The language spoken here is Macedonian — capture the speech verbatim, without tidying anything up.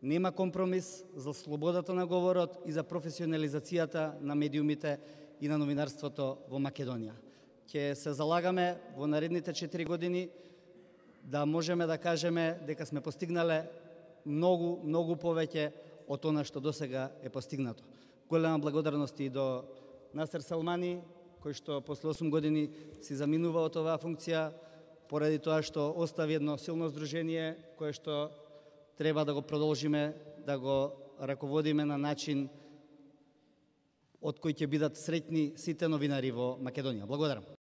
Нема компромис за слободата на говорот и за професионализацијата на медиумите и на новинарството во Македонија. Ќе се залагаме во наредните четири години да можеме да кажеме дека сме постигнале многу, многу повеќе од она што досега е постигнато. Голема благодарност и до Насер Салмани, кој што после осум години си заминува од оваа функција, поради тоа што остави едно силно здружение, кое што треба да го продолжиме, да го раководиме на начин од кој ќе бидат среќни сите новинари во Македонија. Благодарам.